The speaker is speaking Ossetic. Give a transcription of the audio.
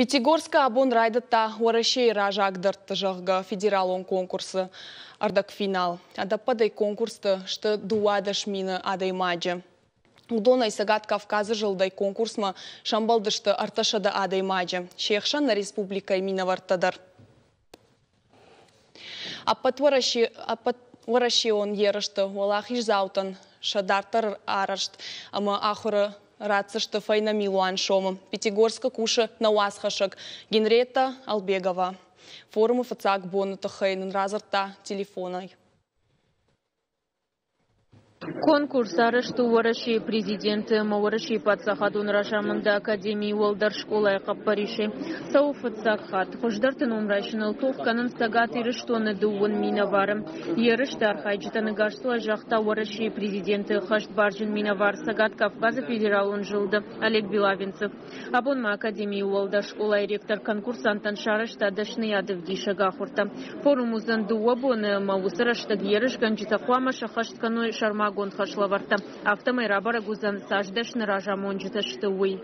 Пятигорскы абон райдыдта Уӕрӕсейы раззагдӕртты, зӕгъгӕ, федералон конкурсы ӕрдӕгфинал. Ӕдӕппӕтӕй конкурсты сты 12 мины адӕймаджы. Уыдонӕй Цӕгат Кавказы зылдӕй конкурсмӕ сӕмбӕлдысты 300 адӕймаджы, се хсӕн нӕ республикӕйы минӕвӕрттӕ дӕр. Ӕппӕтуӕрӕсеон ерысты уӕлахиздзаутӕн сӕ дарддӕр арӕзт ӕмӕ ахуыры ратдзысты фӕйнӕ милуан сомы. Пятигорскы кусы нӕ уацхӕссӕг Генриетта Албегова. Форумы фыццаг боны тыххӕй нын радзырдта телефонӕй. Конкурс арӕзт у Уӕрӕсейы Президенты ӕмӕ Уӕрӕсейы паддзахадон разамынды академийы уӕлдӕр скъолайы хъӕппӕрисӕй. Цӕуы фыццаг хатт. Хуыздӕрты ном райсыныл тох кӕнынц Цӕгат Ирыстоны дыууын минӕвары. Ерысты архайджытӕн ӕгасцуай загъта Уӕрӕсейы Президенты ӕххӕстбарджын минӕвар Цӕгат Кавказы федералон зылды Олег Белавенцев. Абон ма академийы уӕлдӕр скъолайы ректор конкурсанттӕн сарӕзта дӕсныйады ӕвдисӕг ахуыртӕ. Форум уыдзӕн дыууӕ боны ӕмӕ уыцы рӕстӕг ерысгӕнджытӕ хъуамӕ сӕххӕст кӕной сӕрмагонд хӕслӕвӕрдтӕ. Афтӕмӕй рабӕрӕг уыдзӕн, цас дӕсны разамонджытӕ сты, уый.